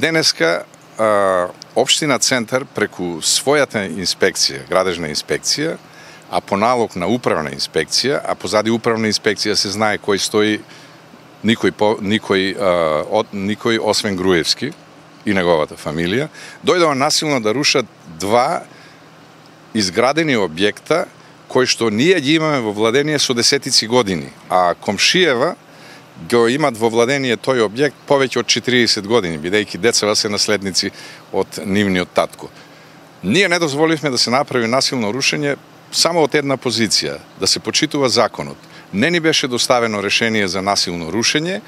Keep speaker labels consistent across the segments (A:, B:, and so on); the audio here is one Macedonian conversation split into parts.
A: Денеска Општина Центар преку својата инспекција, градежна инспекција, а по налог на управна инспекција, а позади управна инспекција се знае кој стои, никој освен Груевски и неговата фамилија, дојдоа насилно да рушат два изградени објекта кои што ние ги имаме во владение со десетици години, а комшиева го имат во владение тој објект повеќе од 40 години, бидејќи децава се наследници од нивниот татко. Ние не дозволивме да се направи насилно рушење само од една позиција, да се почитува законот. Не ни беше доставено решение за насилно рушење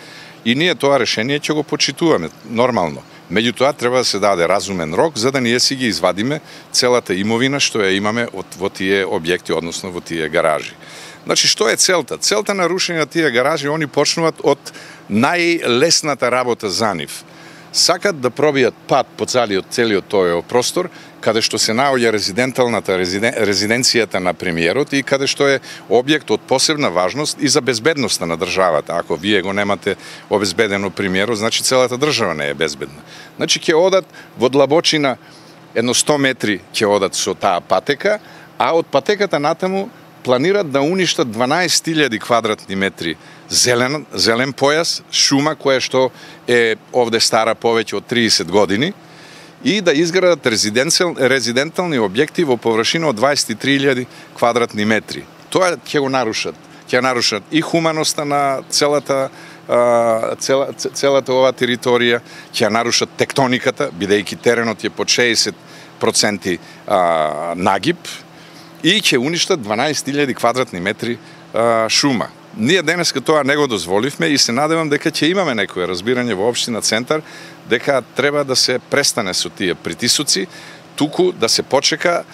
A: и ние тоа решение ќе го почитуваме нормално. Меѓутоа треба да се даде разумен рок за да ние си ги извадиме целата имовина што ја имаме во тие објекти, односно во тие гаражи. Значи, што е целта? Целта на рушење на тие гаражи, они почнуваат од најлесната работа за нив. Сакат да пробијат пат по целиот тој простор, каде што се наоѓа резиденцијата на премиерот и каде што е објект од посебна важност и за безбедноста на државата. Ако вие го немате обезбедено премиерот, значи целата држава не е безбедна. Значи, ќе одат во длабочина едно 100 метри ќе одат со таа патека, а од патеката натаму планират да уништат 12.000 квадратни метри зелен појас, шума која што е овде стара повеќе од 30 години и да изградат резидентални објекти во површина од 23.000 квадратни метри. Тоа ќе го нарушат. Ќе нарушат и хуманоста на целата ова територија, ќе нарушат тектониката, бидејќи теренот е под 60% нагиб, и ќе уништат 12.000 квадратни метри шума. Ние денеска тоа не го дозволивме и се надевам дека ќе имаме некое разбирање во Општина Центар дека треба да се престане со тие притисоци, туку да се почека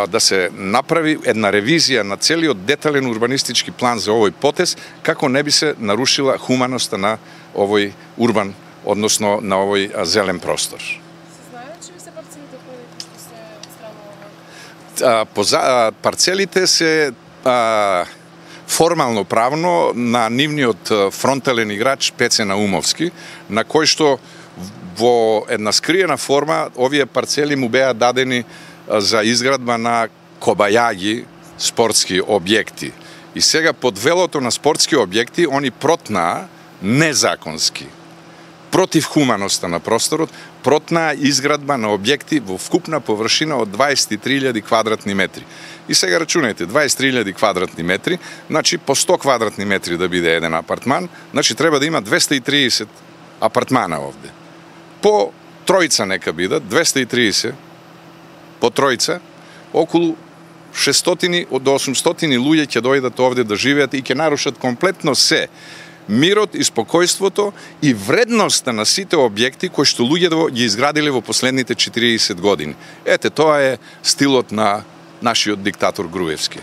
A: да се направи една ревизија на целиот детален урбанистички план за овој потез, како не би се нарушила хуманоста на овој урбан, односно на овој зелен простор. Парцелите се формално правно на нивниот фронтален играч Пеце Наумовски, на кој што во една скриена форма овие парцели му беа дадени за изградба на кобајаги спортски објекти. И сега под велото на спортски објекти они протнаа незаконски, против хуманоста на просторот, протнаа изградба на објекти во вкупна површина од 23.000 квадратни метри. И сега рачунајте, 23.000 квадратни метри, значи по 100 квадратни метри да биде еден апартман, значи треба да има 230 апартмана овде. По тројца нека бидат, 230 по тројца, околу 600 до 800 луѓе ќе дојдат овде да живеат и ќе нарушат комплетно се. Мирот и спокојството и вредноста на сите објекти кои што луѓето ги изградиле во последните 40 години. Ете, тоа е стилот на нашиот диктатор Груевски.